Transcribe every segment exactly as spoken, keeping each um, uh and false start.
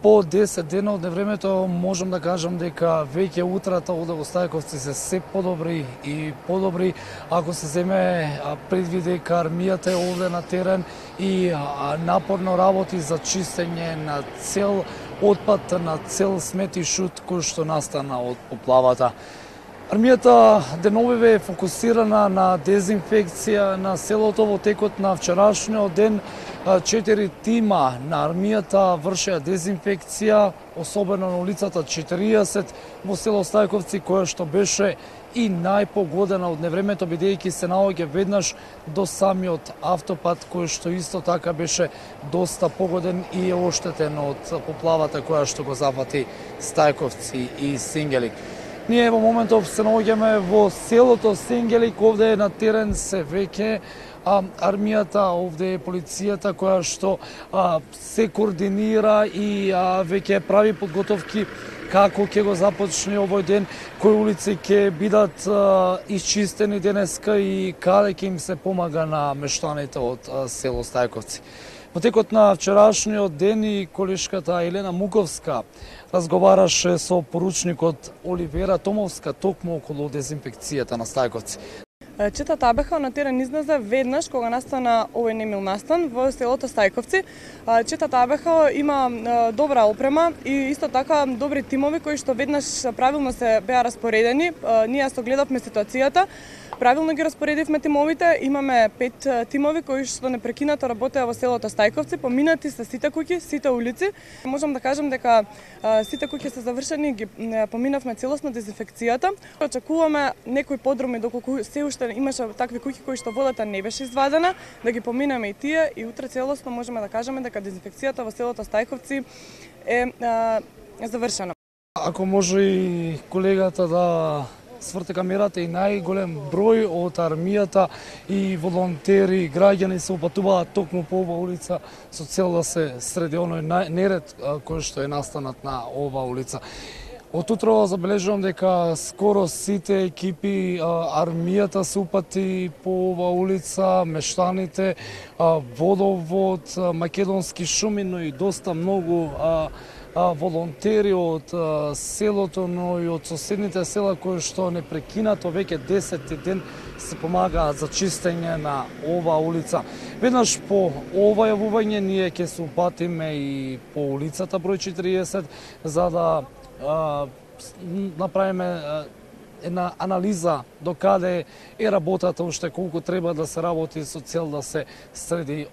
по десет дена од невремето можам да кажам дека веќе утрата овде во Стајковци се се подобри и подобри, ако се земе предвид дека армијата е овде на терен и напорно работи за чистење на цел отпад, на цел смет и шут кој што настана од поплавата. Армијата деновиве е фокусирана на дезинфекција на селото. Во текот на вчерашниот ден четири тима на армијата вршеа дезинфекција, особено на улицата четириесет во село Стајковци, која што беше и најпогодена од невремето, бидејќи се наоѓа веднаш до самиот автопат, кој што исто така беше доста погоден и е оштетен од поплавата која што го зафати Стајковци и Сингелик. Ние во моментов се наоѓаме во селото Сингелик, овде е на терен се веќе а, армијата, овде е полицијата која што а, се координира и а, веќе прави подготовки како ќе го започне овој ден, кои улици ќе бидат а, исчистени денеска и каде ќе им се помага на мештаните од а, село Стајковци. Во текот на вчерашниот ден и колешката Елена Муковска разговараше со поручникот Оливера Томовска токму околу дезинфекцијата на Стајковци. Чета Табеха на терен излезе веднаш кога настана овој немил настан во селото Стајковци. Чета Табеха има добра опрема и исто така добри тимови кои што веднаш правилно се беа распоредени. Ние со гледавме ситуацијата, правилно ги распоредивме тимовите. Имаме пет тимови кои што непрекинато работеа во селото Стајковци, поминати се сите куќи, сите улици. Можам да кажам дека сите куќи се завршени, ги поминавме целосно дезинфекцијата. Очекуваме некои подроми доколку се уште имаше такви куќи кои што водата не беше извадена, да ги поминеме и тие и утре целосно можеме да кажеме дека дезинфекцијата во селото Стајковци е а, завршена. Ако може и колегата да сврте камерата, и најголем број од армијата и волонтери и граѓани се упатуваат токму по оваа улица со цел да се среди оној неред кој што е настанат на оваа улица. Од утро забележувам дека скоро сите екипи, армијата се упати по оваа улица, мештаните, водовод, македонски шуми, но и доста многу волонтери од селото, но и од соседните села кои што непрекинато веќе десети ден се помагаат за чистење на оваа улица. Веднаш по ова јавување ние ќе се упатиме и по улицата број четириесет за да а, направиме една анализа до каде е работата, уште колку треба да се работи со цел да се среди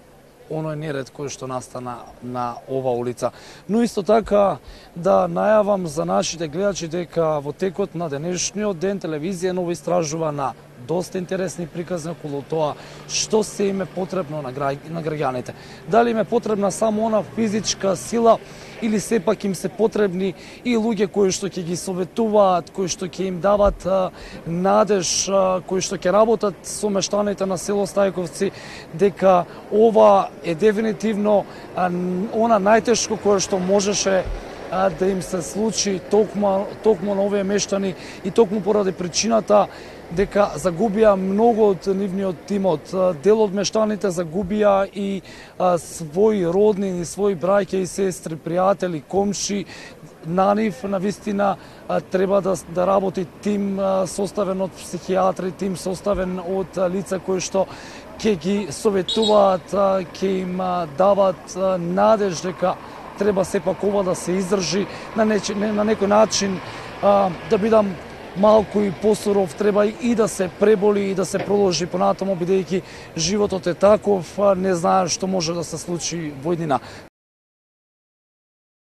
оној неред кој што настана на ова улица. Но исто така да најавам за нашите гледачи дека во текот на денешниот ден телевизија Ново истражува на доста интересни приказни околу тоа што се им е потребно на, гра... на граѓаните. Дали им е потребна само она физичка сила или сепак им се потребни и луѓе кои што ќе ги советуваат, кои што ќе им дават а, надеж, а, кои што ќе работат со мештаните на село Стајковци, дека ова е дефинитивно а, она најтешко кое што можеше а, да им се случи токму, токму на овие мештани и токму поради причината дека загубија многу од нивниот тимот. Дел од мештаните загубија и а, своји роднини, своји браќа и сестри, пријатели, комши. На нив, на вистина, треба да, да работи тим а, составен од психијатри, тим составен од а, лица кои што ќе ги советуваат, а, ќе им а, дават а, надеж дека треба сепак ова да се издржи на, неч, на некој начин, а, да бидам малку и посуров, треба и да се преболи и да се проложи понатаму, бидејќи животот е таков, не знае што може да се случи во иднина.